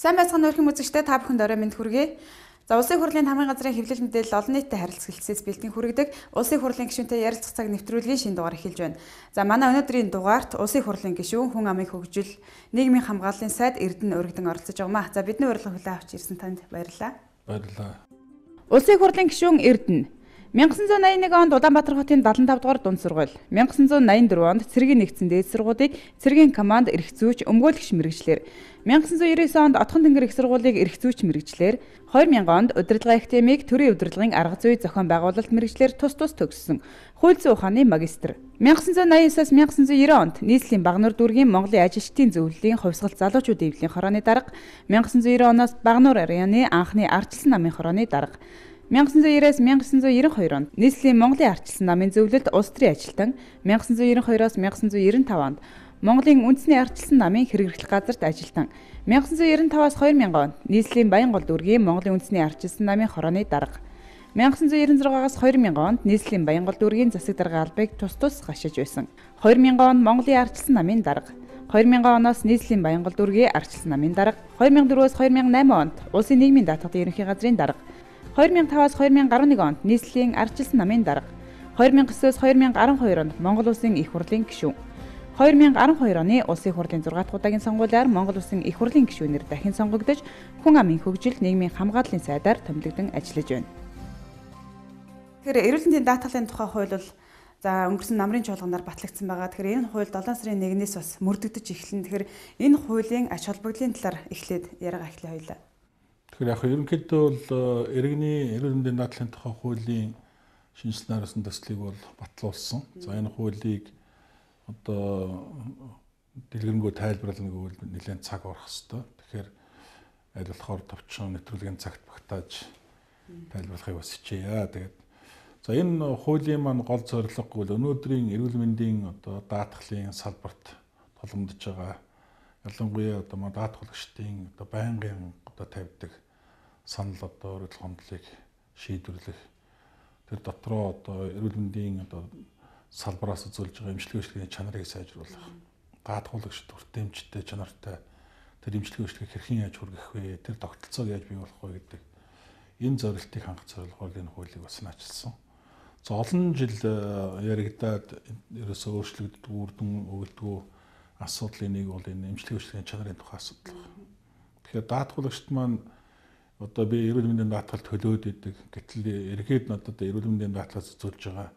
Сайн байцгаана өрхөн үзэгчдээ та бүхэнд орой мэнд хүргэе. За улсын хурлын хамгийн газрын хэвлэл мэдээлэл олон нийтэд харилцах хэлтсээс бэлтгэн хүргэдэг улсын хурлын гишүүнтэй ярилцах цаг нэвтрүүлгийн шинэ дугаар эхэлж байна. За манай өнөөдрийн дугаарт улсын хурлын гишүүн хүн амын хөгжил нийгмийн хамгааллын сайд Эрдэнэ өргөдөн оролцож байгаамаа. За бидний урилга хүлээн авч ирсэн танд баярлалаа. Баярлалаа. Улсын хурлын гишүүн Эрдэнэ 1981 онд Улаанбаатар хотын 75 дугаар дунд сургууль, 1984 онд цэргийн нэгдсэн дээд сургуулийг цэргийн команд эрх зүйч өмгөөлөгч мэргэжлэр, 1999 онд Отхон тэнгэр их сургуулийг эрх зүйч мэргэжлэр, 2000 онд удирдлага академиг төрийн удирдлагын арга зүй зохион байгуулалт мэргэжлэр тус төгссөн, хууль зүйн ухааны магистр. 1989-аас 1990 онд нийслэлийн Багнуур дүүргийн Монголын ажилчдын зөвлөлийн хувьсгалт залуучуудын эвлийн хорооны дарга, 1990 оноос Багнуур районы анхны ардчилсан намын хорооны дарга. 1990-аас 1992 онд нийслэлийн Монголын ардчилсан намын зөвлөлд улс төрийн ажилтан, 1992-оос 1995 онд Монголын үндэсний ардчилсан намын хэрэглэх газарт ажилтан, 1995-аас 2000 онд нийслэлийн Баянгол дүүргийн Монголын үндэсний ардчилсан намын хорооны дарга, 1996-аас 2000 онд нийслэлийн Баянгол дүүргийн засаг даргын албыг тус гашиж байсан, 2000 онд Монголын ардчилсан намын дарга, 2000 оноос нийслэлийн Баянгол дүүргийн ардчилсан намын дарга, 2004-өөс 2008 онд улсын нийгмийн даатгалын ерөнхий газрын дарга, 2005-аас 2011 онд нийслэлийн ардчилсан намын дарга, 2009-өөс 2012 онд Монгол Улсын их хурлын гишүүн, 2012 оны улсын хурлын 6 дахь удаагийн сонгуулиар Монгол Улсын их хурлын гишүүнээр дахин сонгогдож, хүн амын хөгжил нийгмийн хамгааллын сайдаар томилогдсон ажиллаж байна. Тэгэхээр эрүүл мэндийн даатгалын тухай хууль бол өнгөрсөн намрын чуулганаар батлагдсан байгаа. Тэгэхээр энэ хууль 7 сарын 1-ээс бас мөрдөгдөж эхэлнэ. Тэгэхээр энэ хуулийн ач холбогдлын талаар эхлээд яриага эхлэе хоёлаа. Тэгэхээр яг ерөнхийдөө бол иргэний эрүүл мэндийн даатгалын тухай хуулийн шинжилсэн хариуцсан төслийг бол батлуулсан. За энэ хуулийг одоо дэлгэрэнгүй тайлбарлана гэвэл нэлээд цаг орох хэвээр. Тэгэхээр аль болохоор товчхон нэвтрүүлгийн цагт багтааж тайлбарлахыг бас хичээе. Тэгээд за энэ хуулийн маань гол зорилго бол өнөөдрийн эрүүл мэндийн одоо даатгалын салбарт тулгамдж байгаа ялангуяа одоо манай даатгалагчдын одоо байнгын одоо тавьдаг санал одоо өргөдөл хондлыг шийдвэрлэх тэр дотроо одоо эрүүл мэндийн одоо салбараас үзүүлж байгаа эмчилгээ үйлчлэгийн чанарыг сайжруулах, даатгуулагчид хүртээмжтэй чанартай тэр эмчилгээ үйлчлэгийг хэрхэн яаж хүргэх вэ, тэр тогтолцоог яаж бий болох вэ гэдэг энэ зорилтыг хангах зорилгоор энэ хуулийг бас наачилсан. За олон жил яригадаад ерөөсөө өөрчлөгддөг үрдэн өгөлдгөө асуудлын нэг бол энэ эмчилгээ үйлчлэгийн чанарын тухай асуудал байна. Тэгэхээр даатгуулагчид маань одоо би эрүүл мэндийн даатгал төлөөд идэг. Гэтэл эргээд надад эрүүл мэндийн даатгалаас үзүүлж байгаа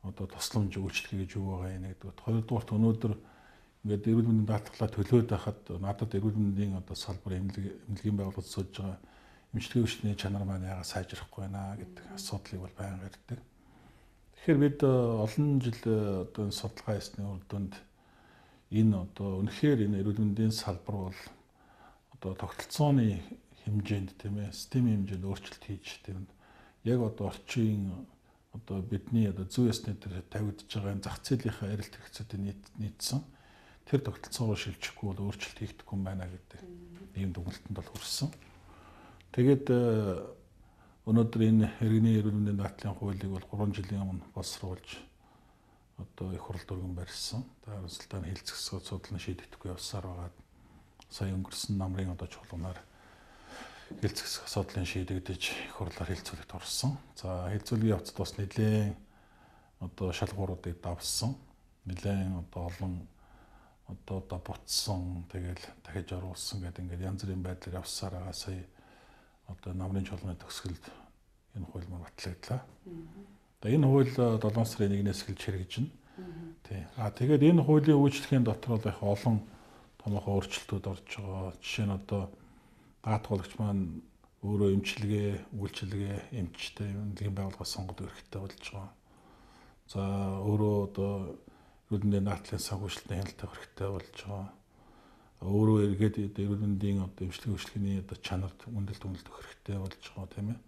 одоо тусламж үйлчлэг гэж юу байгаа юм гэдэг. Хоёрдугаарт өнөөдөр ингээд эрүүл мэндийн даатгалаа төлөөд байхад надад эрүүл мэндийн одоо салбар эмнэлгийн байгууллагад үзүүлж байгаа эмчилгээ үйлчлэгийн чанар маань яагаад сайжрахгүй байна гэдэг асуудлыг бол байнга ярьдаг. Тэгэхээр бид олон жил одоо энэ судалгаа хийсний үр дүнд энэ одоо үнэхээр энэ эрүүл мэндийн салбар бол одоо тогтолцооны хэмжээнд тийм ээ системийн хэмжээнд өөрчлөлт хийж тийм яг одоо орчин одоо бидний одоо зүй ёсны дээр тавигдж байгаа энэ зах зээлийнхаа арилт хэрэгцээтэй нийцсэн тэр тогтолцоогоо шилжихгүй бол өөрчлөлт хийгдэхгүй юм байна гэдэг ийм дүгнэлтэнд бол хүрсэн. Тэгээд өнөөдөр энэ иргэний эрүүл мэндийн даатгалын хуулийг бол 3 жилийн өмнө боловсруулж одоо их хурл дүргэн барьсан. Харамсалтай нь хэлцэх асуудал нь шийдэгдэхгүй явсаар байгаа. Сая өнгөрсөн намрын одоо чуулганаар хэлцэх асуудлын шийдэгдэж их хурлаар хэлцүүлэгт орсон. За хэлцүүлгийн явцад бас нэлээд одоо шалгууруудыг давсан. Нэлээд одоо олон одоо бутсан тэгэл дахиж оруулсан гэдэг ингээд янз бүрийн байдлаар явсаар байгаа. Сая одоо намрын чуулганы төгсгөлд энэ хууль маань батлагдлаа. Энэ хууль 7 сарын 1-ээс эхэлж хэрэгжинэ. Тий. Тэгээд энэ хуулийн үйлчлэхийн дотор бол их олон томоохон өөрчлөлтүүд орж байгаа. Жишээ нь одоо даатгуулагч маань өөрөө эмчилгээ, үйлчилгээ, эмчтэй эмнэлгийн байгууллагаас сонгодог эрхтэй болж байгаа. За өөрөө одоо эрүүл мэндийн даатгалын санхүүжилтийн хяналттай эрхтэй болж байгаа. Өөрөө эргээд эрүүл мэндийн одоо эмчилгээ үйлчлэгийн одоо чанарт үнэлт өгөх хэрэгтэй болж байгаа тийм ээ.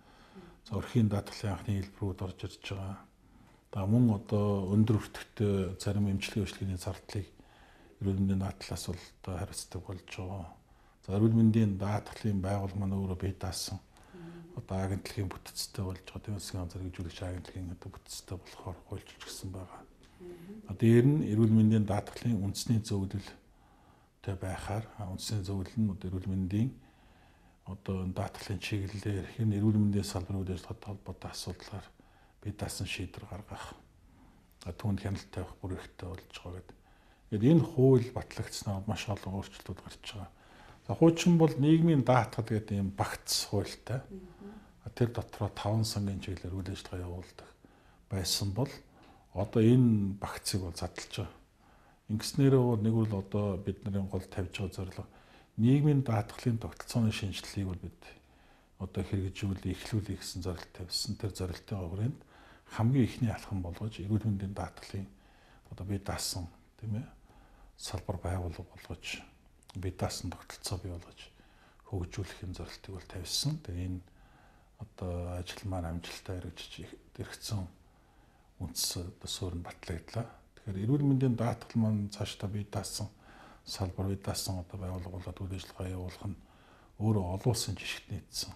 За өрхийн даатгалын анхны хэлбэрүүд орж ирж байгаа. Мөн одоо өндөр өртөгтэй зарим эмчилгээ үйлчлэгийн зардлыг эрүүл мэндийн даатгалаас бол одоо хариуцдаг болж байгаа. За эрүүл мэндийн даатгалын байгууллага маань өөрөө бие даасан одоо агентлагийн бүтцтэй болж байгаа. Тийм үсгийн зэрэгжүүлэгч агентлагийн одоо бүтцтэй болохоор хуульчилж гисэн байгаа. Дээр нь эрүүл мэндийн даатгалын үндэсний зөвлөлтэй байхаар үндэсний зөвлөл нь эрүүл мэндийн одоо даатгалын чиглэлээр хэн эрүүл мэндийн салбарын үйл ажиллагаатай холбоотой асуудлаар бие даасан шийдвэр гаргах, түүнд хяналт тавих бүр ихтэй болж байгаа гэдэг. Ингээд энэ хууль батлагдсанаар маш олон өөрчлөлтүүд гарч байгаа. За хуучин бол нийгмийн даатгал гэдэг ийм багц хуультай. Тэр дотроо 5 сангийн чиглэлээр үйл ажиллагаа явуулдаг байсан бол одоо энэ багцыг бол задлж байгаа. Ингэснээрээ бол нэг бол одоо бидний гол тавьж байгаа зорилго нийгмийн даатгалын тогтолцооны шинжилгээг бол бид одоо хэрэгжүүлэх, эхлүүлэх гэсэн зорилт тавьсан. Тэр зорилтын хүрээнд хамгийн ихний алхам болгож эрүүл мэндийн даатгалын одоо бие даасан тийм ээ салбар байгуулга болгож бие даасан тогтолцоо бий болгож хөгжүүлэхийн зорилтыг бол тавьсан. Тэгээ энэ одоо ажил маань амжилттай хэрэгжиж ирсэн үндэс суурь нь батлагдлаа. Тэгэхээр эрүүл мэндийн даатгал маань цаашдаа бие даасан салбар бие даасан одоо байгуулга болоод үйл ажиллагаа явуулах нь өөрөө олон улсын жишгт нийцсэн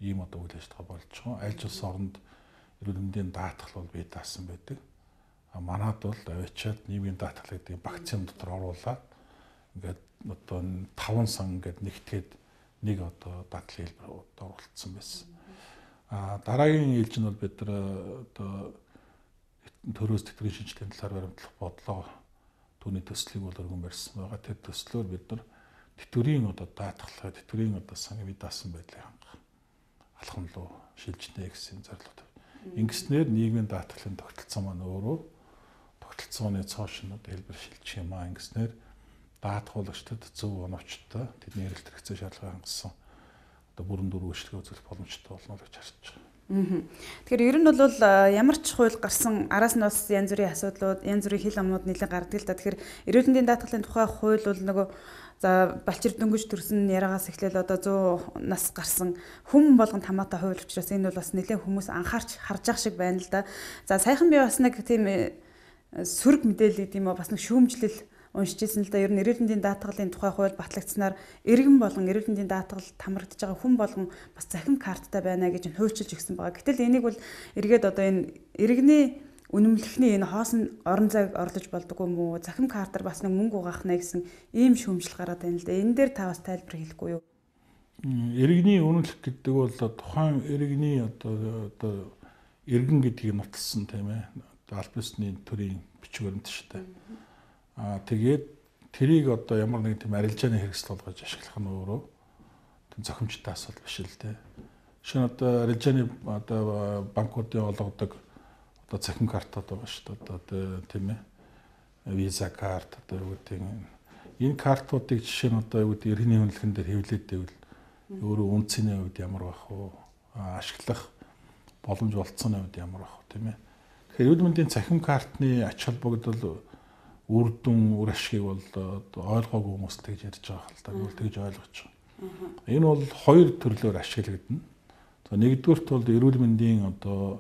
ийм одоо үйл ажиллагаа болж байгаа. Аль улс оронд эрүүл мэндийн даатгал бол бие даасан байдаг. Манайд бол авчиад нийгмийн даатгал гэдэг багцын дотор оруулаад ингээд одоо 5 сан ингээд нэгтгээд нэг одоо даатгалын хэлбэр оруулагдсан байсан. Дараагийн ээлж нь бол бид нар одоо төрөөс тэтгэврийн шинжилгээний талаар баримтлах бодлого түүний төслийг бол өргөн барьсан байгаа. Тэр төслөөр бид нар тэтгэврийн одоо даатгалаа, тэтгэврийн одоо сангийн бие даасан байдлыг хангах алхам руу шилжнэ гэсэн зорилготой. Ингэснээр нийгмийн даатгалын тогтолцоо маань өөрөө тогтолцооны цоошнод хэлбэр шилжих юм аа. Ингэснээр даатгуулагчдад зөв оновчтой тэдний эрэлт хэрэгцээ шаардлагыг хангасан одоо бүрэн дүр үйлчлэгээ үзүүлэх боломжтой болно гэж харж байгаа. Тэгэхээр ер нь бол ямар ч хууль гарсан араас нь бас янз бүрийн асуудлууд, янз бүрийн хил амнууд нэлээд гардаг л да. Тэгэхээр эрүүл мэндийн даатгалын тухай хууль бол нөгөө за балчир дөнгөж төрсөн яраагаас эхлээл одоо 100 нас гарсан хүм болгонд хамаатай хууль учраас энэ бол бас нэлээд хүмүүс анхаарч харж ах шиг байна л да. За саяхан би бас нэг тийм сөрөг мэдээлэл гэдэм үү бас нэг шүүмжлэл уншижсэн л да. Ер нь эрүүл мэндийн даатгалын тухай хууль батлагдсанаар иргэн болгон эрүүл мэндийн даатгал хамрагдж байгаа хүн болгон бас захим карттай байна гэж хуульчилж өгсөн байгаа. Гэтэл энийг бол эргээд одоо энэ иргэний үнэмлэхний энэ хоосон орон зайг орлож болдог юм уу? Захим картаар бас нэг мөнгө угаахна гэсэн ийм шүүмжил гараад байна л да. Энэ дээр та бас тайлбар хэлэхгүй юу? Иргэний үнэмлэх гэдэг бол тухайн иргэний одоо иргэн гэдгийг нотолсон тийм ээ. Аль бисны төрийн бичиг баримт шүү дээ. Тэгээд тэрийг одоо ямар нэгэн тийм арилжааны хэрэгсэл болгож ашиглах нь өөрөө тийм зохимжтой асуудал биш л дээ. Шинэ одоо арилжааны одоо банкуудын олгодог одоо цахим картууд байгаа шүү дээ. Одоо тийм ээ виза карт одоо юу гэдэг энэ картуудыг жишээ нь одоо юу гэдэг иргэний үнэлгээн дээр хэвлээд байвал өөрөө үнцний хувьд ямар байх вэ? Ашиглах боломж олцсоны хувьд ямар байх вэ тийм ээ. Тэгэхээр эрүүл мэндийн цахим картны ач холбогдол үр дүн үр ашгийг бол ойлгоогүй хүмүүс тэгж ярьж байгаа хэл та бол тэгж ойлгож байгаа. Энэ бол хоёр төрлөөр ашиглагдана. За нэгдүгürt бол эрүүл мэндийн одоо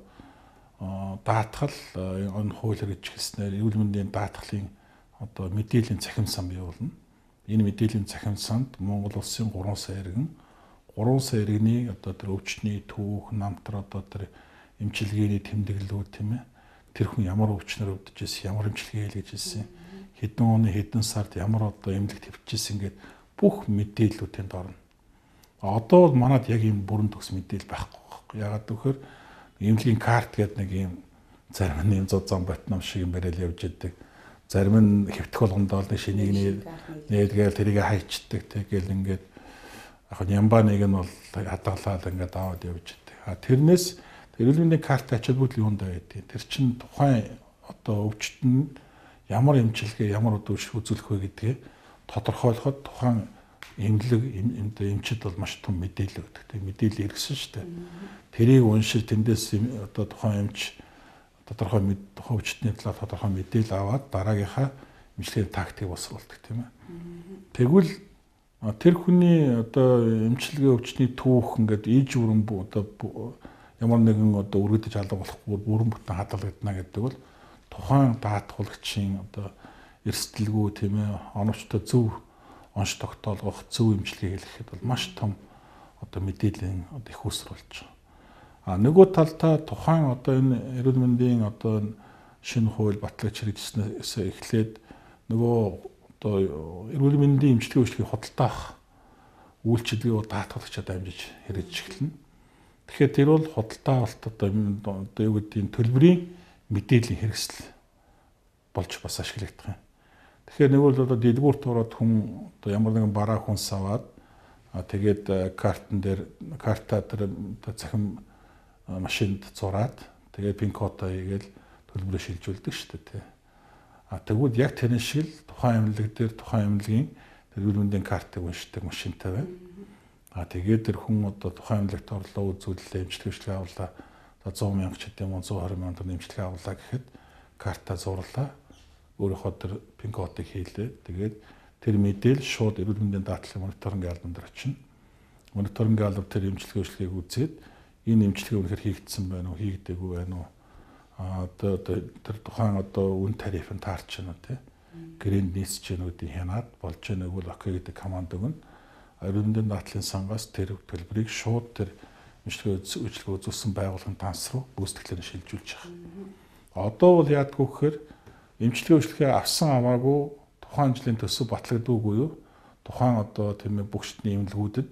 даатгал энэ хууль хэрэгж хэлснээр эрүүл мэндийн даатгалын одоо мэдээллийн цахим сан бий болно. Энэ мэдээллийн цахим санд Монгол улсын 3 сая иргэн 3 сая иргэний одоо тэр өвчтний түүх, намтар одоо тэр эмчилгээний тэмдэглэлүүд тийм ээ. Тэр хүн ямар өвчнөр өвдөж ирсэн, ямар эмчилгээ хийлгэж ирсэн, хэдэн оны хэдэн сард ямар одоо эмнэлэг твчижсэн гэдэг бүх мэдээллүүд тэнд орно. Одоо бол манад яг ийм бүрэн төгс мэдээлэл байхгүй. Ягаад гэвэл эмнэлгийн карт гэдэг нэг ийм зарим нь юм 100 зам Батнам шиг юм барайл явж идэг. Зарим нь хэвтэх болгондоо л шинийг нээлгээл тэрийг хайчдаг тэгэл ингээд яг нямба нэг нь бол хадгалаад ингээд аваад явж идэг. Тэрнээс эрүүл мэндийн карт ачаал бүтэл юунд байдаг. Тэр чинь тухайн одоо өвчтөнд ямар эмчилгээ, ямар үзүүлэх вэ гэдгийг тодорхойлоход тухайн эмнэлэг эмчид бол маш том мэдээлэл өгдөг. Тэг мэдээлэл иргсэн шүү дээ. Тэрийг уншиж тэндээс одоо тухайн эмч тодорхой тухайн өвчтний талаар тодорхой мэдээлэл аваад дараагийнхаа эмчилгээний тактикийг босруулдаг тийм ээ. Тэгвэл тэр хүний одоо эмчилгээ өвчтний түүх ингээд иж бүрэн одоо ямар нэгэн одоо өргөдөж алга болохгүй бүрэн бүтэн хадгалагдана гэдэг бол тухайн даатгуулагчийн одоо эрсдэлгүй тийм ээ оновчтой зөв онш тогтоолгох зөв эмчилгээ хийхэд бол маш том одоо мэдээллийн одоо их уср болж байгаа. Нөгөө талдаа тухайн одоо энэ эрүүл мэндийн одоо шинэ хууль батлаж хэрэгжснээс эхлээд нөгөө одоо эрүүл мэндийн эмчилгээ үйлчлэгийг худалдаах үйлчилгээ бол даатгалагчаа дамжиж хэрэгжиж эхэлнэ. Тэгэхээр тэр бол худалдаа авалт одоо юу гэдэг нь төлбөрийн мэдээллийн хэрэгсэл болж бас ашиглагдах юм. Тэгэхээр нэг бол одоо дэлгүүрт ороод хүн одоо ямар нэгэн бараа хүнс аваад тэгээд картаа тэр захин машинд зураад тэгээд пин кодоо хийгээл төлбөрөө шилжүүлдэг шүү дээ. Тэгвэл яг тэр шиг л тухайн эмнэлэг дээр тухайн эмнэлгийн тэр эрүүл мэндийн картыг уншдаг машинтай байна. Тэгээд тэр хүн одоо тухайн эмнэлэгт орлоо үзүүлэлээ, эмчилгээ авлаа. 100 мянга ч гэдэм 120 мянга төгрөгийн эмчилгээ авлаа гэхэд картаа зурлаа. Өөрийнхөө тэр пин кодыг хийлээ. Тэгээд тэр мэдээлэл шууд эрүүл мэндийн даатгалын мониторинг албан дээр очино. Мониторинг албан тэр эмчилгээ үйлчлэгийг үзээд энэ эмчилгээ үнэхээр хийгдсэн байна уу, хийгдээгүй байна уу? Тэр тухайн одоо үн тарифын таарч байна тий. Грэнд нийсч гэнүүдийн хянаад болж байгаа нэг бол окей гэдэг команд өгнө. Эрүүл мэндийн даатгалын сангаас тэр төлбөрийг шууд тэр эмчилгээ үзүүлсэн байгууллагын данс руу гүйцэтгэлээр шилжүүлж байгаа. Одоо бол яадгүй гэхээр эмчилгээ үйлчлэгээ авсан аваагүй тухайн жилийн төсөв батлагддаггүй юу? Тухайн одоо тийм ээ бүх шатны эмнэлгүүдэд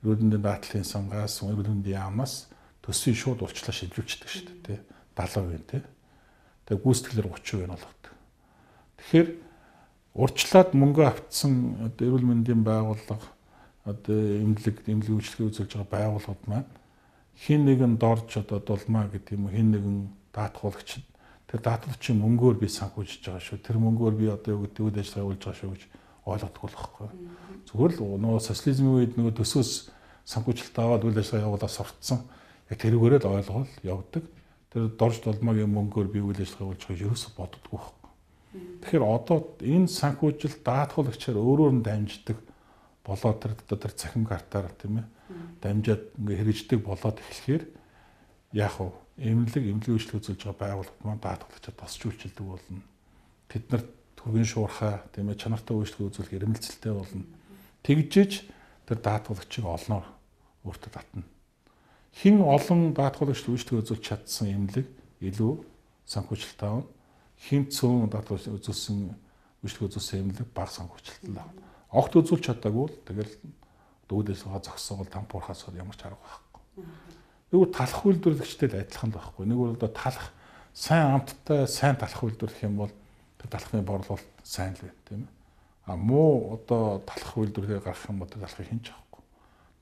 эрүүл мэндийн даатгалын сангаас, эрүүл мэндийн яамнаас төсвийг шууд уулчлаа шилжүүлчихдэг шүү дээ тий. 70% тий. Тэгээ гүйцэтгэлээр 30% болгодог. Тэгэхээр урьдчилаад мөнгө автсан одоо эрүүл мэндийн байгууллага одоо эмнэлэг үйлчлэгээ үзүүлж байгаа байгууллагууд маань хин нэгэн дорж одоо дулмаа гэдэг юм уу хин нэгэн даатгуулагч тэр даатгалчийн мөнгөөр би санхүүжиж байгаа шүү. Тэр мөнгөөр би одоо юу гэдэг үйл ажиллагаа явуулж байгаа шүү гэж ойлгодог болохгүй. Зүгээр л нөгөө социализмын үед нөгөө төсөөс санхүүжилт аваад үйл ажиллагаа явуулаад суртсан. Яг тэрүүгээрээ л ойлгол явдаг. Тэр дорж дулмаагийн мөнгөөр би үйл ажиллагаа явуулж байгааг ерөөсө боддоггүй байхгүй. Тэгэхээр одоо энэ санхүүжилт даатгуулагчаар өөрөөр нь дамждаг болоод тэр цахим картаар тийм ээ дамжаад ингээ хэрэгждэг болоод эхлэхээр яах вэ? Эмнэлэг үйлчлэг үзүүлж байгаа байгууллагууд маань даатгалагчаа тосч үйлчилдэг болно. Тэд нарт түргэн шуурхай тийм ээ чанартай үйлчлэг үзүүлэх эрмэлзэлтэй болно. Тэгжиж тэр даатгалагчийг олноор өөртөө татна. Хин олон даатгуулагч үйлчлэг үзүүлж чадсан эмнэлэг илүү санхүүжилт авна. Хин цөөн даатгуулагч үзүүлсэн үйлчлэг үзүүлсэн эмнэлэг бага санхүүжилт авна. Огт үзүүлж чадаагүй л тэгэл үйл ажиллагаа зогсоол тампуурхаас ямар ч арга байхгүй. Нэг талах үйлдвэрлэгчтэй л адилхан л байхгүй. Нэг бол одоо талах сайн амттай сайн талах үйлдвэрлэх юм бол тэр талхны борлуулалт сайн л байна тийм ээ. Муу одоо талах үйлдвэрлэгээ гаргах юм бол тэр талхыг хинч авахгүй.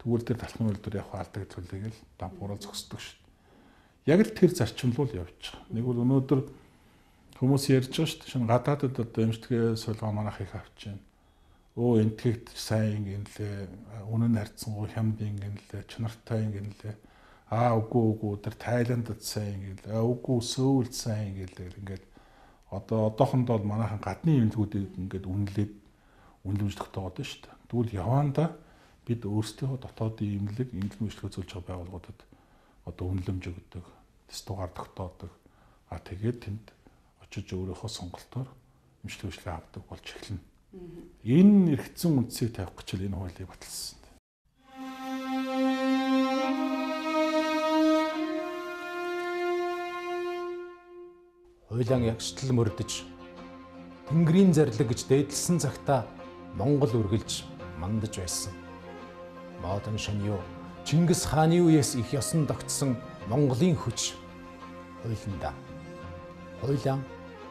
Тэгвэл тэр талхны үйлдвэр яг алдаг зүйлийг л тампуураа зогсдог шүү дээ. Яг л тэр зарчим руу л явж байгаа. Нэг бол өнөөдөр хүмүүс ярьж байгаа шүү дээ. Шинэ гадаадд одоо эмчилгээ суулгаа манайх их авч байна. Энтгэгт сайн ингэнлээ, үнэн харьцангуй хямд ингэнлээ, чанартай ингэнлээ. Үгүй тэр Тайландд сайн ингэнлээ. Үгүй Сөүлд сайн ингэнлээ. Ингээд одоохондоо бол манайхан гадны эмнэлгүүдийг ингээд үнэлж тогтоогод шүү дээ. Тэгвэл явандаа бид өөрсдөө дотоодын эмнэлэг үйлчлэг үзүүлж байгаа байгууллагуудад одоо үнэлэмж өгдөг, тестугаар тогтоодог. Тэгээд тэнд очиж өөрийнхөө сонголтоор эмчилгээ үйлчлэг авдаг болж эхэлнэ. Энэ эргэцэн үндсийг тавих гэж энэ хуулийг баталсан. Хуйлаан ягштал мөрдөж Тэнгэрийн зарлиг гэж дээдлсэн цагта Монгол үргэлж мандаж байсан. Модон шөньё Чингис хааны үеэс их ёсон тогтсон Монголын хүч хуйланда. Хуйлаан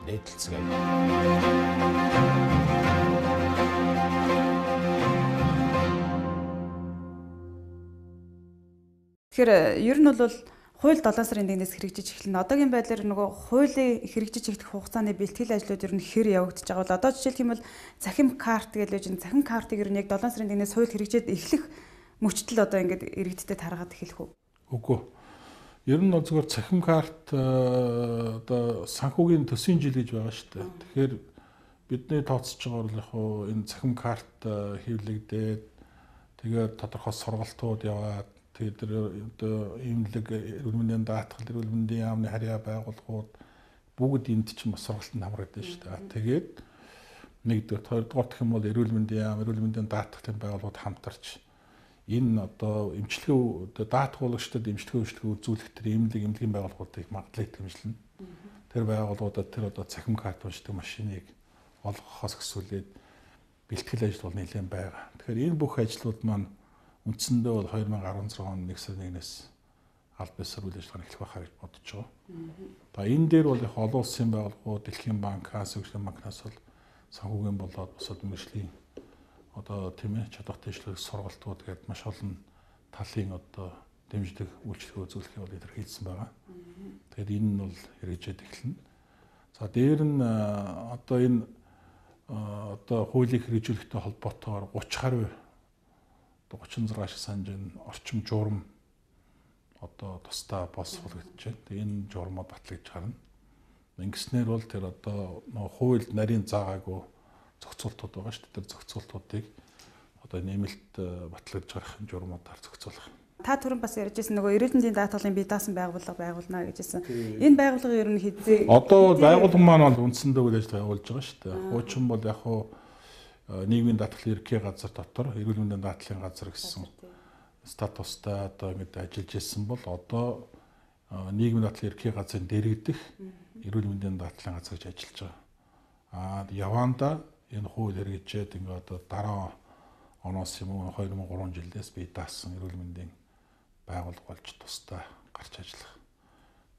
дээдлцгээе. Тэгэхээр ер нь бол хууль 7 сарын 1-ээс хэрэгжиж эхэлнэ. Одоогийн байдлаар нөгөө хуулийн хэрэгжиж эхлэх хугацааны бэлтгэл ажлууд ер нь хэр явагдаж байгаа бол одоо жишээлх юм бол цахим карт гэж л энэ цахим картыг ер нь яг 7 сарын 1-ээс хууль хэрэгжээд эхлэх мөчтөл одоо ингээд иргэдтэй таргаад эхэлэх үү? Үгүй. Ер нь зөвхөн цахим карт одоо санхүүгийн төсвийн жил гэж байгаа шүү дээ. Тэгэхээр бидний тооцож байгаа бол яг энэ цахим карт хэвлэгдээд тэгээд тодорхой сургалтууд яваад тэгээд одоо эмнэлэг эрүүл мэндийн даатгал эрүүл мэндийн яамны харьяа байгууллагууд бүгд энд чинь бас сургалтанд хамрагдсан шүү дээ. Тэгээд нэгдүгээр хоёрдугаар гэх юм бол эрүүл мэндийн яам эрүүл мэндийн даатгалын байгууллагууд хамтарч энэ одоо эмчилгээ даатгуулагчдад эмчилгээ үзүүлэх тэр эмнэлгийн байгууллагуудыг магадлал хэмжлэн тэр байгууллагуудад тэр одоо цахим карт уншдаг машиныг олгохоос өсвөлээд бэлтгэл ажил бол нэлээд байгаа. Тэгэхээр энэ бүх ажлууд маань үндсэндээ бол 2016 оны 1 сарын 1-ээс аль бисаар үйл ажиллагаа эхлэх байхаа гэж бодож байгаа. За энэ дээр бол их олон улсын байгууллагууд, Дэлхийн банк, Асиан банкнаас бол санхүүгийн болоод бусад мэргэжлийн одоо тийм ээ чадвартай ижлэх сургалтууд гэдэг маш олон талын одоо дэмждэг үйлчлэг үзүүлэхийг бол илэрхийлсэн байгаа. Тэгэхээр энэ нь бол хэрэгжээд эхэлнэ. За дээр нь одоо энэ одоо хуулийг хэрэгжүүлэхтэй холбоотойгоор 30 гаруй 36 шиг санаж энэ орчим журам одоо тусдаа боловсруулагдаж байна. Тэгээ энэ журмууд батлагдж гарна. Ингэснээр бол тэр одоо нөө хуульд нарийн заагаагүй зохицуултууд байгаа шүү дээ. Тэр зохицуултуудыг одоо нэмэлт батлагдж гарах журмуудаар зохицуулах. Та түрүүн бас ярьжсэн нөгөө эрүүл мэндийн даатгалын бие даасан байгууллага байгуулна гэжсэн. Энэ байгууллага ер нь хэзээ одоо байгууллага маань бол үндсэндээ үйл ажиллагаа явуулж байгаа шүү дээ. Хуучин бол яг хуу нийгмийн даатгалын ерөнхий газар дотор эрүүл мэндийн даатгалын газар гэсэн статустай одоо ингэж ажиллаж ирсэн бол одоо нийгмийн даатгалын ерөнхий газрын дэргэдэх эрүүл мэндийн даатгалын газар гэж ажиллаж байгаа. Яванда энэ хууль хэрэгжээд ингээ одоо дараа оноос юм уу 2003 жилдээс бие даасан эрүүл мэндийн байгууллага болж тусдаа гарч ажиллах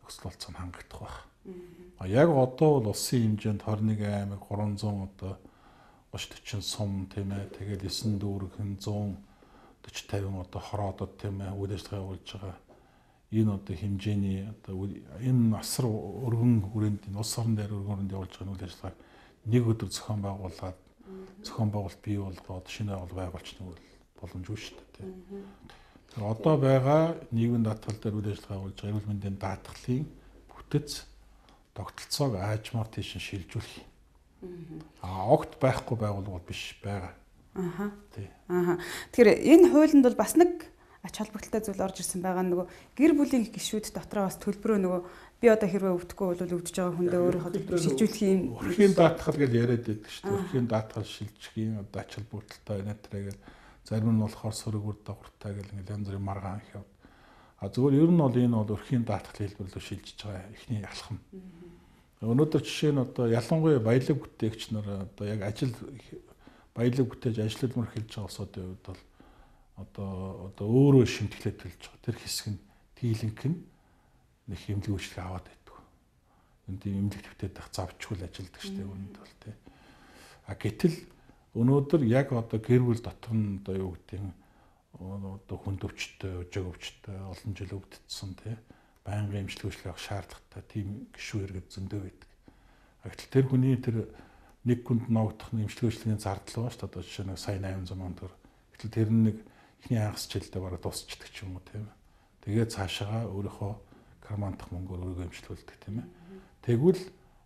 нөхцөл болцоо хангагдах байх. Яг одоо бол улсын хэмжээнд 21 аймаг 300 одоо 30-40 сум тийм ээ тэгээд 9 дүүрэг 140-50 одоо хороодод тийм ээ үйл ажиллагаа явуулж байгаа. Энэ одоо хэмжээний одоо энэ асар өргөн хүрээнд улс орон дээр өргөн хүрээнд явуулж байгаа үйл ажиллагааг нэг өдөр зохион байгуулалт бий болгоод шинэ байгуулчны боломжгүй шүү дээ тийм. Одоо байгаа нийгмийн даатгал дээр үйл ажиллагаа явуулж байгаа эрүүл мэндийн даатгалын бүтэц тогтолцоог аажмаар тийш шилжүүлэх. Огт байхгүй байгууллага биш байгаа. Тэгэхээр энэ хуулинд бол бас нэг ач холбогдолтой зүйл орж ирсэн байгаа. Нөгөө гэр бүлийн гишүүд дотроо бас төлбөрөө нөгөө би одоо хэрвээ өвдөхгүй бол өвдөж байгаа хүндээ өөрийнхөө төлбөрөөр шилжүүлэх юм. Өрхийн даатгал гэж яриад байдаг шүү дээ. Өрхийн даатгал шилжих юм одоо ач холбогдолтой байна тэрэг зарим нь болохоор сөрөг үр дагавартай гэл ингээл янз бүрийн маргаан их явд. Зөвхөн ер нь бол энэ бол өрхийн даатгалын хэлбэрлэлөөр шилжиж байгаа ихний алхам. Өнөөдөр жишээ нь одоо ялангуяа баялаг бүтээгч нар одоо яг баялаг бүтээж ажиллалмаар хэлж байгаа улсуудын хувьд бол одоо өөрөө шимтгэлээ төлж байгаа. Тэр хэсэг нь дийлэнх нь нэг эмнэлэг үйлчлэг аваад байдаг. Энд эмнэлэг төвтэй дах завчгүй ажилдаг штеп үүнд бол тий. Гэтэл өнөөдөр яг одоо гэр бүл дотор нь одоо юу гэдэг нь одоо хүнд өвчтөй, өжөг өвчтөй, олон жил өвдсөн тий. Байнгын эмчилгээ үйлчлэг авах шаардлагатай тийм гишүүн иргэд зөндөө байдаг. Гэтэл тэр хүний тэр нэг хүнд ногдох эмчилгээ үйлчлэгийн зардал байгаа шүү дээ. Одоо жишээ нь сая 800 сая төгрөг. Гэтэл тэр нэг ихний хагас жилдээ бараг дуусчдаг ч юм уу тийм. Тэгээд цаашаа өөрийнхөө кармантах мөнгөөр өөрийгөө эмчилүүлдэг тийм ээ. Тэгвэл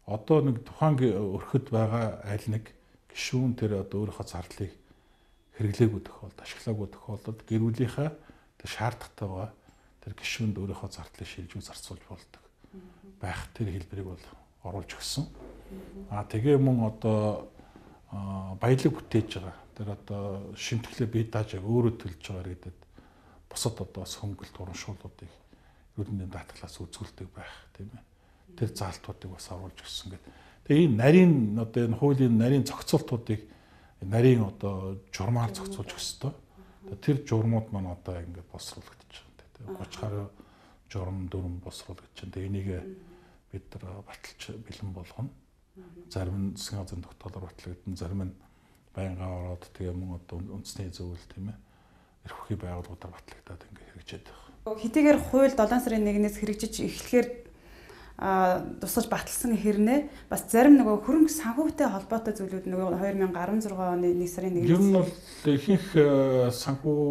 одоо нэг тухайн өрхөд байгаа аль нэг гишүүн тэр одоо өөрийнхөө зардлыг хэрэглээгүй тохиолдолд, ашиглаагүй тохиолдолд гэр бүлийнхаа тэр шаардлагатай байгаа тэр гишүүнд өөрийнхөө зардлыг шилжүүлж зарцуулж болдог байх тэр хэлбэрийг бол оруулж өгсөн. Тэгээ мөн одоо баялаг бүтээж байгаа тэр одоо шимтгэлээ бие дааж өөрөө төлж байгаа гэдэг бусад одоо хөнгөлт урамшууллуудыг эрүүл мэндийн даатгалаас үзүүлдэг байх тийм ээ. Тэр заалтуудыг бас оруулж өгсөн гэдэг. Тэгээ энэ нарийн одоо энэ хуулийн нарийн зохицуултуудыг нарийн одоо журмаар зохицуулж өгсөн. Тэр журмууд маань одоо ингээд босруулагдаж байгаа. 30 гаруй журам дүрм босруулагдаж байна. Тэгээ энийг бид нар баталж бэлэн болгоно. Зарим нь засгийн газрын тогтоолоор батлагдана, зарим нь байнга ороод тэгээ мөн одоо үндэсний зөвлөл тийм ээ. Эрх ухааны байгууллагуудаар батлагдаад ингээд хэрэгжээд байна. Хэдийгээр хууль 7 сарын 1-ээс хэрэгжиж эхлэхээр тусгаж баталсан хэрнээ бас зарим нөгөө хөрөнгө санхүүтэй холбоотой зүйлүүд нөгөө 2016 оны 1 сарын 1-ээс ер нь бол ихэнх санхүү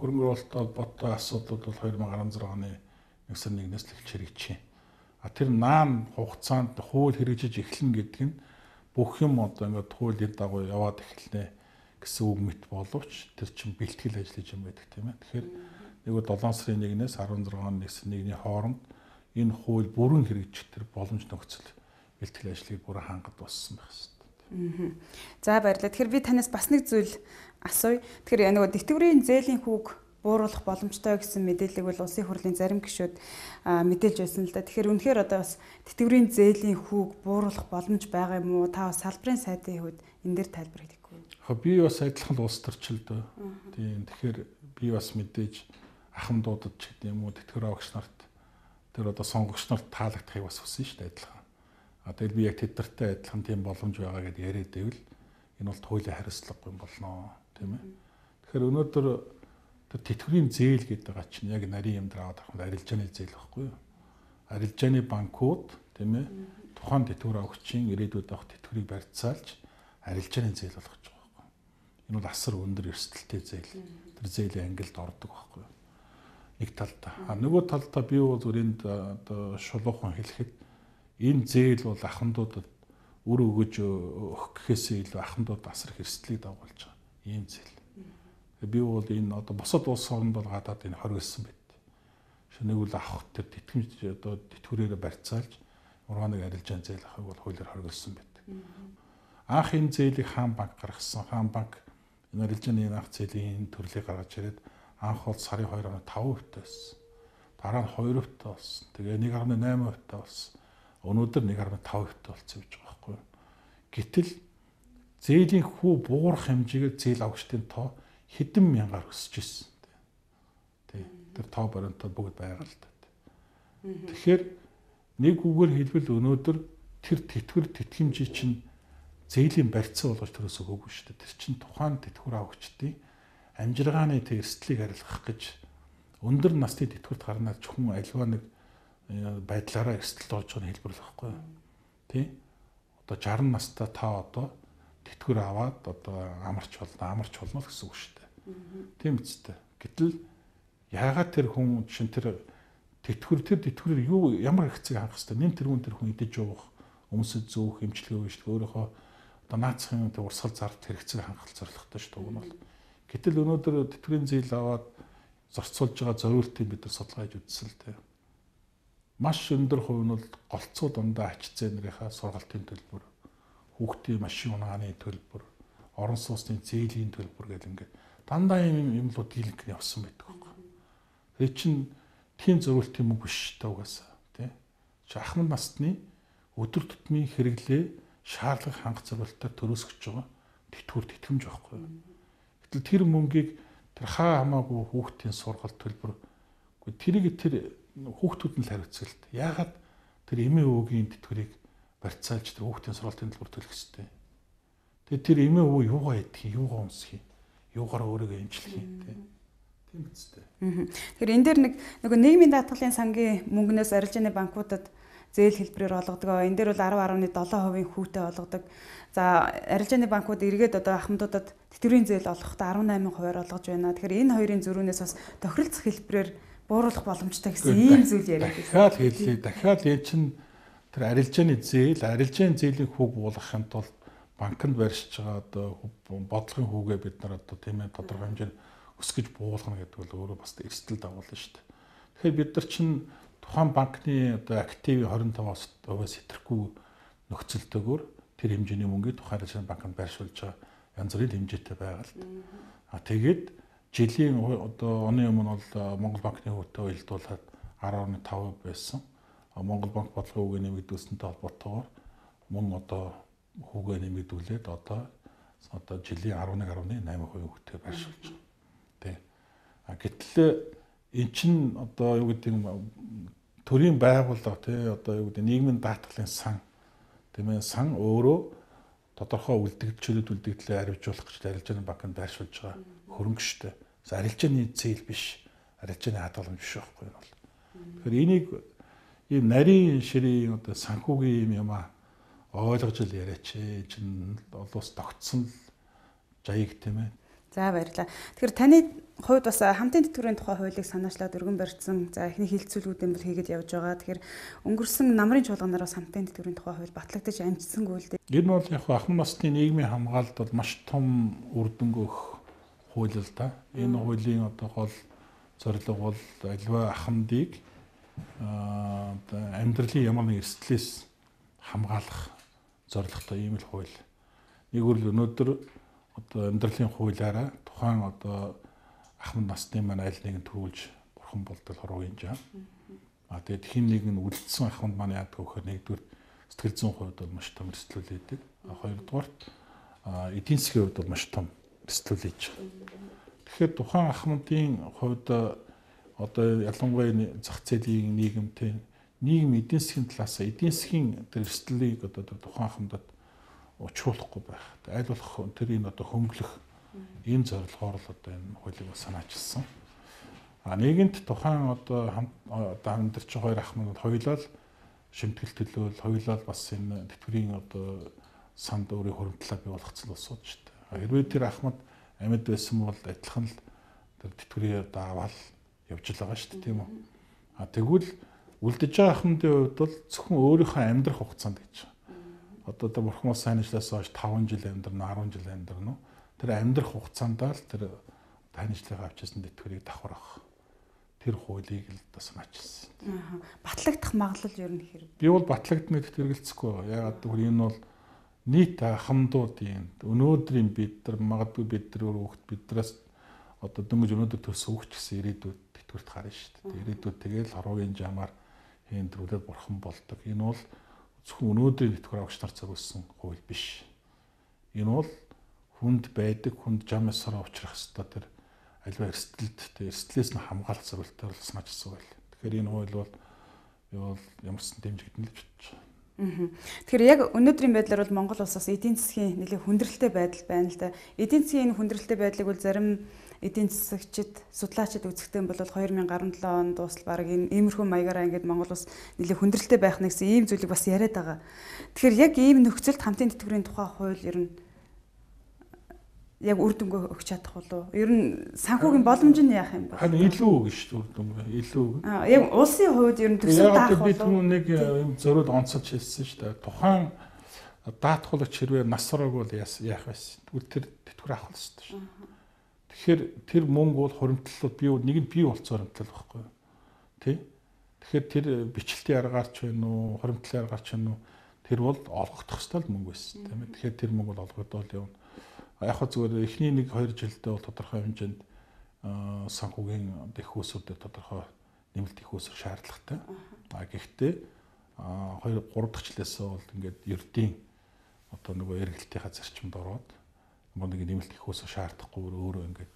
хөрөнгө оруулалттай холбоотой асуудлууд бол 2016 оны 1 сарын 1-ээс л эхэлж хэрэгжиж байна. Тэр наан хугацаанд хууль хэрэгжиж эхлэн гэдэг нь бүх юм одоо ингээд хуулийн дагуу яваад эхэлнэ гэсэн үг мэт боловч тэр чинь бэлтгэл ажиллаж юм байдаг тийм ээ. Тэгэхээр нэг 7 сарын 1-ээс 16 оны 1 сарын 1-ний хооронд энэ хууль бүрэн хэрэгжих тэр боломж нөхцөл бэлтгэл ажлыг бүрэн хангад болсон байх хэвээр. За баярлалаа. Тэгэхээр би танаас бас нэг зүйл асууя. Тэгэхээр нөгөө тэтгэврийн зээлийн хүүг бууруулах боломжтой гэсэн мэдээллийг бол улсын хурлын зарим гишүүд мэдээлж байсан л да. Тэгэхээр үнэхээр одоо бас тэтгэврийн зээлийн хүүг бууруулах боломж байгаа юм уу? Та бас салбарын сайдын хувьд энэ дээр тайлбар хийхгүй. Би бас адилхан улс төрчилдөө. Тийм. Тэгэхээр би бас мэдээж ахмадуудад ч гэдэг юм уу тэтгэврийн агч нарт тэр одоо сонгогч нарт таалагдахыг бас хүсэн шүү дээ адилхан. Тэгэл би яг тэднэртэй адилхан тийм боломж байгаа гэдээ яриад байвал энэ бол хуулийн хариуцлагагүй болно тийм ээ. Тэгэхээр өнөөдөр тэр тэтгэврийн зээл гэдэг байгаа чинь яг нарийн юм дээр аваад авах арилжааны зээл байхгүй юу? Арилжааны банкуд тийм ээ тухайн тэтгэврийн агчийн ирээдүйд авах тэтгэврийг барьцаалж арилжааны зээл болгож байгаа байхгүй юу? Энэ бол асар өндөр эрсдэлтэй зээл. Тэр зээлийн ангилд ордог байхгүй юу? Нэг талдаа. Нөгөө талдаа би бол зүрэнд одоо шулуухан хэлэхэд энэ зээл бол ахмадуудад үр өгөж өгөх гэхээсээ илүү ахмадууд асар их эрсдлийг дагуулж байгаа. Ийм зээл. Би бол энэ одоо бусад улс орнд бол гадаад энэ хоригдсан байт. Шинийг үл авах тэр тэтгэмж одоо тэтгэврээр барьцаалж ургааныг арилжаан зээл авахыг бол хуулиар хоригдсан байт. Анх энэ зээлийг хаан банк гаргасан. Хаан банк энэ арилжааны анх зээлийн төрлийг гаргаж ирээд анх бол сарын 2.5% байсан. Дараа нь 2% болсон. Тэгээ 1.8% болсон. Өнөөдөр 1.5% болсон гэж байгаа байхгүй юу. Гэтэл зээлийн хүү буурах хэмжээгээр зээл авагчдын тоо хэдэн мянгаар өсөж ирсэн. Тэ. Тэр тоо баримтууд бүгд байгаа л та. Тэгэхээр нэг үгээр хэлбэл өнөөдөр тэр тэтгэмжий чинь зээлийн барьцаа болгож төрөөс өгөөгүй шүү дээ. Тэр чинь тухайн тэтгэвэр авагчдын амжиргааны тэр эрсдлийг арилгах гэж өндөр насны тэтгэврт гарнаад хүн альва нэг байдлаараа эрсдэлд орж байгаа хэлбэр л байхгүй юу. Тэ? Одоо 60 настай та одоо тэтгэвэр аваад одоо амарч болно гэсэн үг шүү дээ. Тийм үстэй. Гэтэл яагаад тэр хүн чинь тэр тэтгэврээр юу ямар хэрэгцээг хангах хэвээр нэм тэрүүн тэр хүн идэж явах, өмсөж зөөх, эмчилгээ өгөх өөрийнхөө одоо наацхийн урсгал зард хэрэгцээг хангах зорилготой шүү дээ. Уг нь бол. Гэтэл өнөөдөр тэтгэврийн зээл аваад зорцуулж байгаа зориултыг бид нар судалгааж үзсэн л дээ. Маш өндөр хувь нь бол голцоо дундаа ач зээ нарынхаа сургалтын төлбөр, хүүхдийн машин унааны төлбөр, орон сууцны зээлийн төлбөр гэх ингээд дандаа юмлууд дийлэнх явсан байдаг байхгүй. Тэр чинь тийм зориултын мөнгө биш та угаасаа тий. Чи ахмад насны өдөр тутмын хэрэглээ шаардлага хангах зориултаар төрөөсгөж байгаа тэтгэмж байхгүй. Гэтэл тэр мөнгийг тэр хаа хамаагүй хүүхдийн сургалт төлбөр тэрийг тэр хүүхдүүд нь л хариуцгалт. Яагаад тэр эмээ өвөгийн тэтгэврийг барьцаалж тэр хүүхдийн сургалтын төлбөр төлөх ёстой. Тэгээд тэр эмээ өвөө юугаа идэх, юугаа унсах юм, юугаараа өөрийгөө эмчлэх юм тийм үстэй. Тэгэхээр энэ дээр нөгөө нийгмийн даатгалын сангийн мөнгнөөс арилжааны банкудад зээл хэлбэрээр олгодог. Энэ дээр бол 10.7% хүүтэй олгодог. За арилжааны банкуд эргээд одоо ахмадуудад тэтгэврийн зээл олгохдоо 18% олгож байна. Тэгэхээр энэ хоёрын зөрүүнээс бас тохиролцох хэлбэрээр бууруулах боломжтой гэсэн ийм зүйл яриад байна. Дахиад энэ чинь тэр арилжааны зээлийн хүүг буулгахын тулд банкнд барьж байгаа одоо бодлогын хүүгээ бид нар одоо тийм ээ тодорхой хэмжээнд өсгөж буулгана гэдэг бол өөрөө бас эрсдэл дагуулна шүү дээ. Тэгэхээр бид нар чинь тухайн банкны одоо активын 25%-аас хэтрэхгүй нөхцөлтэйгээр тэр хэмжээний мөнгийг тухайн арилжааны банкнд байршуулж байгаа янз бүрийн хэмжээтэй байгаа л да. Тэгээд жилийн одоо оны өмнө бол Монгол банкны хөвтэй уялдуулаад 10.5% байсан. Монгол банк бодлогын үгээ нэмэгдүүлсэнтэй холбоотойгоор мөн одоо хүүгээ нэмэгдүүлээд одоо жилийн 11.8% хөвтэй байршуулж байгаа. Тэ. Гэтэл эн чин одоо юу гэдэг төрийн байгууллага тий одоо юу гэдэг нийгмийн даатгалын сан тийм ээ сан өөрөө тодорхой үлдэгдлээ арвижуулах гэж арилжааны банкнд байршуулж байгаа хөрөнгө штэ. Арилжааны зээл биш, арилжааны хадгаламж биш байхгүй юм бол. Тэгэхээр энийг ийм нарийн ширийн одоо санхүүгийн юм ойлгож л яриач. Чин олоос тогтсон л жаяг тийм ээ. За баярлалаа. Тэгэхээр таны хувьд бас хамтын тэтгэврийн тухай хуулийг санаачлаад өргөн барьсан. За эхний хилцүүлгүүдэн бол хийгээд явж байгаа. Тэгэхээр өнгөрсөн намрын чуулганаар бас хамтын тэтгэврийн тухай хууль батлагдаж амжсангүй л дээ. Энэ бол яг ахмад насны нийгмийн хамгаалалт бол маш том үр дүнг өгөх хууль л да. Энэ хуулийн одоо гол зорилго бол аливаа ахмадыг амьдралын ямар нэг эрсдлээс хамгаалах зорилготой ийм л хууль. Нэгүрл өнөөдөр одоо амьдралын хуулиараа тухайн одоо ахмад насны маань аль нэгэн төрүүлж бурхан болтол хорвоо юм жаа. Тэгээд хин нэг нь үлдсэн ахмад маань яадаг вөхөр нэгдүгээр сэтгэл зүйн хувьд бол маш том эрсдэл үүдэг. Хоёрдугаар эдийн засгийн хувьд бол маш том эрсдэл үүж байгаа. Тэгэхээр тухайн ахмадын хувьд одоо ялангуяа зах зээлийн нийгэмтэй нийгэм эдийн засгийн талаас эдийн засгийн эрсдлийг одоо тухайн ахмадад учруулахгүй байх. Аль болох тэрийг одоо хөнгөлөх ийм зорилгоор л одоо энэ хуулийг санаачилсан. Нэгэнт тухайн одоо хамтарч хоёр ахмад хоёулаа л шимтгэл төлөөл, хоёулаа л бас энэ тэтгэврийн одоо санд өөрийн хуримтлаа бий болгоцсон улсууд шүү дээ. Хэрвээ тэр ахмад амьд байсан бол адилхан л тэр тэтгэврийн одоо аваад явж байгаа шүү дээ, тийм үү? Тэгвэл үлдэж байгаа ахмадын хувьд бол зөвхөн өөрийнхөө амьдрах хугацаанд гэж. Одоо тэр бурхан ус сайнчлаас хойш 5 жил амьдрна, 10 жил амьдрна. Тэр амьдрах хугацаандаа л тэр танилцлага авчихсан тэтгэврийг давхарах. Тэр хуулийг л санаачилсан. Батлагдах магадлал ер нь хэрэг. Би бол батлагдана гэдэгт хэрэгэлцэхгүй. Ягаад гэвэл энэ бол нийт хамдуудын өнөөдрийн бид нар магадгүй бид нар хүүхд биднээс одоо дөнгөж өнөөдөр төсөө хүүхд гэсэн ирээдүйд тэтгэврт гарна шүү дээ. Ирээдүйд тэгэл хорвогийн жамаар хэндрүүлээд бурхан болдог. Энэ бол зөвхөн өнөөдрийн тэтгэвэр авагч нар зориулсан хууль биш. Энэ бол хүнд байдаг, хүнд жам ясараа учрах ёстой тэр аливаа эрсдлээс нь хамгаалах зорилтоор санаачилсан байл. Тэгэхээр энэ хууль бол ямарсан дэмжигдэн л гэж бодож байна. Тэгэхээр яг өнөөдрийн байдлаар бол Монгол улсаас эдийн засгийн нэлээд хүндрэлтэй байдал байна л да. Эдийн засгийн энэ хүндрэлтэй байдлыг бол зарим эдийн засагчид, судлаачид үзэхдээ бол 2017 онд дуусал баг иймэрхүү маягаараа ингээд Монгол улс нэлээд хүндрэлтэй байх нэгсэн ийм зүйлийг бас яриад байгаа. Тэгэхээр яг ийм нөхцөлд хамтын тэтгэврийн тухай хууль ер нь яг үр дүнгээ өгч чадах болов. Ер нь санхүүгийн боломж нь яах юм бэ? Харин илүү үг шүү дээ үр дүнгээ. Илүү. Яг улсын хувьд ер нь төсөв даах болов. Би түрүү нэг юм зориуд онцолж хэлсэн шүү дээ. Тухайн даатгуулагч хэрвээ нас сураагүй бол яах вэ? Тэгвэл тэр тэтгэвэр авах хэрэгтэй шүү. Тэгэхээр тэр мөнгө бол хуримтлалууд нэг нь бий болцоо хуримтлал байхгүй юу? Тэ? Тэгэхээр тэр бичлэлтийн аргаарч байна уу, хуримтлалын аргаарч байна уу? Тэр бол олгогдох ёстой л мөнгө байсан тийм ээ. Тэгэхээр тэр мөнгө бол олгогдол явна. Яг хөө зүгээр эхний 1-2 жилдээ бол тодорхой хэмжээнд санхүүгийн их усуудад тодорхой нэмэлт их усэр шаардлагатай. Гэхдээ 2-3 дахь жилээсээ бол ингээд ердийн одоо нөгөө эргэлтийнхаа зарчимд ороод нэг нэмэлт их усэр шаардахгүй өөрөө ингээд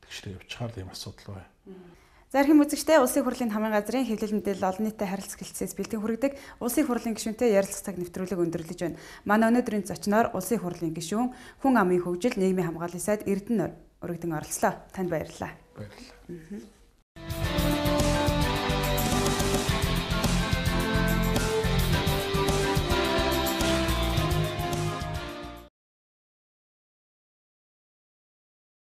тэгшрээ явчихаар ийм асуудал байна. За хэрхэн үзэгчтэй улсын хурлын хамын газрын хэвлэл мэдээлэл олон нийтэд харилцах хэлцээс бэлтгэн хүргэдэг улсын хурлын гишүүнтэй ярилцах цаг нэвтрүүлэг өндөрлөж байна. Манай өнөөдрийн зочноор улсын хурлын гишүүн Хүн амын хөгжил нийгмийн хамгааллын сайд Эрдэнэ өргөдөн оролцлоо. Танд баярлалаа. Баярлалаа.